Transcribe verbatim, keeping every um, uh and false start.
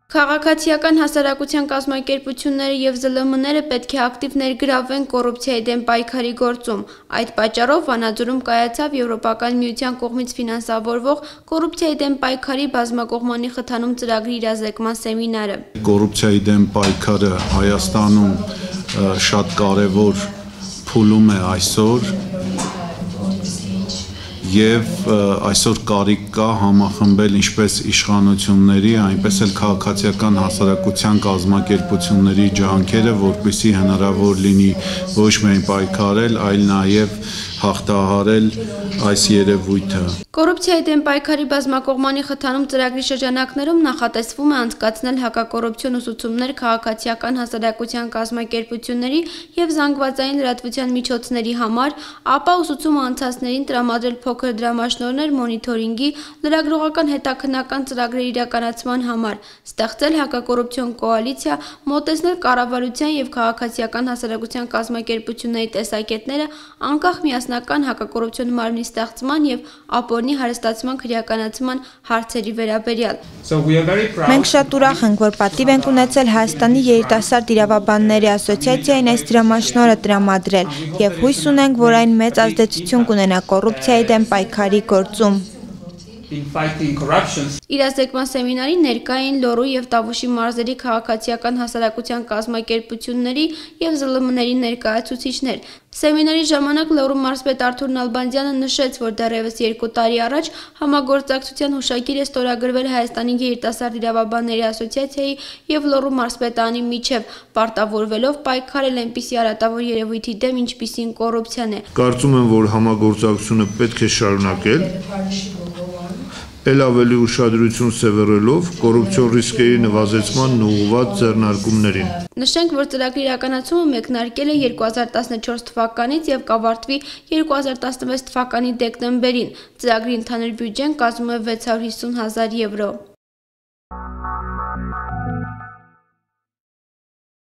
Քաղաքացիական հասարակության կազմակերպությունները և զլմ-ները պետք է ակտիվ ներգրավվեն կոռուպցիայի դեմ պայքարի գործում։ Այդ պատճառով Վանաձորում կայացավ Եվրոպական միության կողմից ֆինանսավորվող կոռուպցիայի դեմ պայքարի բազմակողմանի խթանում ծրագրի իրազեկման սեմինարը։ Կոռուպցիայի դեմ պայքարը Հայաստանում շատ կարևոր փուլում է այսօր և այսօր կարիք կա համախմբել ինչպես իշխանությունների, այնպես էլ քաղաքացիական հասարակության կազմակերպությունների ջանքերը, որպեսզի հնարավոր լինի ոչ միայն պայքարել, այլ նաև հաղթահարել այս երևույթը։ Կոռուպցիայի դեմ պայքարի բազմակողմանի խթանում ծրագրի շրջանակներում նախատեսվում է անցկացնել հակակոռուպցիոն ուսուցումներ քաղաքացիական հասարակության կազմակերպությունների և զանգվածային լրատվության միջոցների համար, ապա ուսուցումը անցածներին տրամադրել փոքր դրամաշնորհներ մոնիթորինգի, լրագրողական հետաքննական ծրագրերի իրականացման համար, ստեղծել հակակոռուպցիոն կոալիցիա, մոտեցնել կառավարության և քաղաքացիական հասարակության կազմակերպությունների տեսակետները, անկախ միասնական հակակոռուպցիոն մարմնի ստեղծման և ապօրինի հարստացման քրեականացման հարցերի վերաբերյալ։ Մենք շատ ուրախ ենք, որ պատիվ ենք ունեցել Հայաստանի երիտասարդ իրավաբանների ասոցիացիային այս դրամաշնորհը տրամադրել և հույս ունենք, որ այն մեծ ազդեցություն կունենա կոռուպցիայի դեմ պայքարի գործում։ Իրազեկման սեմինարին ներկա էին Լոռու և Տավուշի մարզերի քաղաքացիական հասարակության կազմակերպությունների և զլ m-ների ներկայացուցիչներ։ Սեմինարի ժամանակ Լոռու մարզպետ Արթուր Նալբանդյանը նշեց, որ դեռևս երկու տարի առաջ համագործակցության հուշագիր է ստորագրվել Հայաստանի երիտասարդ իրավաբանների ասոցիացիայի և Լոռու մարզպետարանի միջև, պարտավորվելով պայքարել այնպիսի արատավոր երևույթի դեմ, ինչպիսին կոռուպցիան է։ Կարծում եմ, որ համագործակցությունը պետք է շարունակել, էլ ավելի ուշադրություն սևեռելով կոռուպցիոն ռիսկերի նվազեցմանն ուղղված ձեռնարկումներին։ Նշենք, որ ծրագրի իրականացումը մեկնարկել է երկու հազար տասնչորս թվականից և կավարտվի երկու հազար տասնվեց թվականի դեկտեմբերին։ Ծրագրի ընդհանուր բյուջեն կազմում է վեց հարյուր հիսուն հազար եվրո։